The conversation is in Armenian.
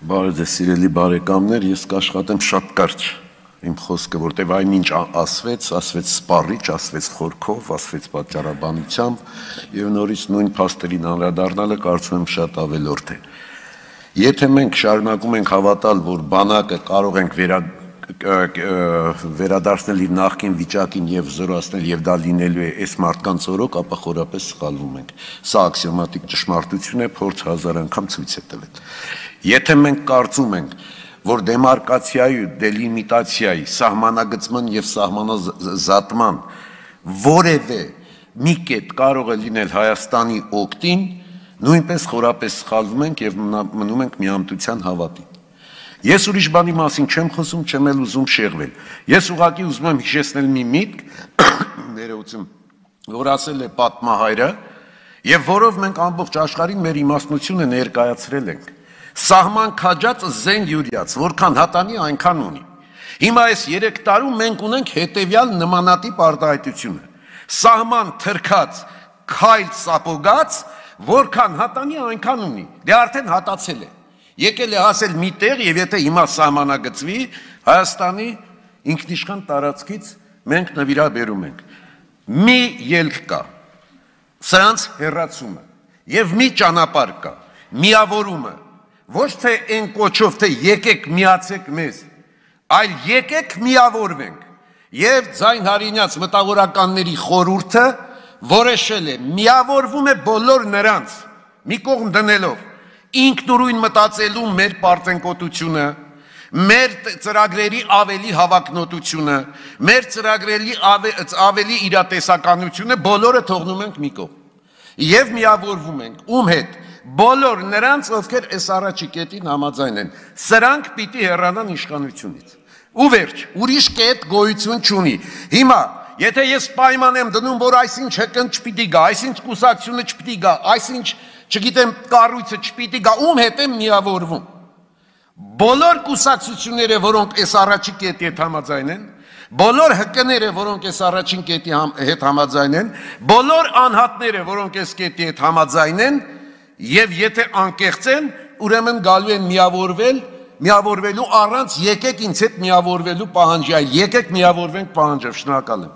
Բարև ձեզ սիրելի բարեկամներ, ես կաշխատեմ շատ կարճ իմ խոսքը, որտեվ այնինչ ասվեց սպառիչ, ասվեց խորքով, ասվեց պատճառաբանությամբ եւ նորից նույն փաստերին անդրադառնալը կարծում եմ շատ ավելորդ է։ Եթե մենք շարունակում ենք հավատալ, որ բանակը կարող ենք վերադարձնել իր նախկին վիճակին եւ զորացնել եւ դա լինելու է այս մարդկանց օրոք, ապա խորապես սխալվում ենք։ Սա աքսիոմատիկ ճշմարտություն է, փորձ հազար անգամ ցույց է տվել։ Եթե մենք կարծում ենք, որ դեմարկացիայի, դելիմիտացիայի, սահմանագծման եւ սահմանազատման որևէ մի կետ կարող է լինել Հայաստանի օգտին, նույնպես խորապես սխալվում ենք եւ մնում ենք միամտության հավատին։ Ես ուրիշ բանի մասին չեմ խոսում, չեմ էլ ուզում շեղվել։ Ես ուղղակի ուզում եմ հիշեցնել մի միտք, ներողություն, որ ասել է պատմահայրը, եւ որով մենք ամբողջ աշխարհին մեր իմաստնությունը ներկայացրել ենք։ Սահման քաջած զեն յուրյաց, որքան հատանի այնքան ունի։ Հիմա այս 3 տարում մենք ունենք հետեւյալ նմանատիպ արտահայտությունը։ Սահման թրքած, քայլ սապոգած, որքան հատանի այնքան ունի։ Դե արդեն հատացել է։ Եկել է ասել մի տեղ եւ եթե հիմա սահմանագծվի Հայաստանի ինքնիշխան տարածքից մենք նվիրաբերում ենք։ Մի ելք կա։ Սրանց հեռացումը եւ մի ճանապարհ կա։ Միավորումը ոչ թե այն կոչով թե եկեք միացեք մեզ, այլ եկեք միավորվենք։ Եվ Ձայն Հարինյաց մտավորականների խորհուրդը որոշել է միավորվում է բոլոր նրանց մի կողմ դնելով ինքնուրույն մտածելու մեր պարծենկոտությունը, մեր ծրագրերի ավելի հավակնոտությունը, մեր ծրագրերի ավելի իրատեսականությունը բոլորը թողնում ենք մի կողմ։ Եվ միավորվում ենք ում հետ բոլոր նրանց, ովքեր այս առաջի կետին համաձայն են, սրանք պիտի հեռանան իշխանությունից։ Ու վերջ, ուրիշ կետ գոյություն չունի։ Հիմա, եթե ես պայման եմ դնում, որ այսինչ ՀԿ-ն չպիտի գա, այսինչ կուսակցությունը չպիտի գա, այսինչ, չգիտեմ, կառույցը չպիտի գա, ում հետ եմ միավորվում։ Բոլոր կուսակցությունները, որոնք այս առաջի կետի հետ համաձայն են, բոլոր ՀԿ-ները, որոնք այս առաջին կետի հետ համաձայն են, բոլոր անհատները, որոնք այս կետի հետ համաձայն են, եւ եթե անկեղծ են, ուրեմն գալու են միավորվելու առանց եկեք ինձ հետ միավորվելու պահանջի, եկեք միավորվենք պահանջով, շնորհակալ եմ։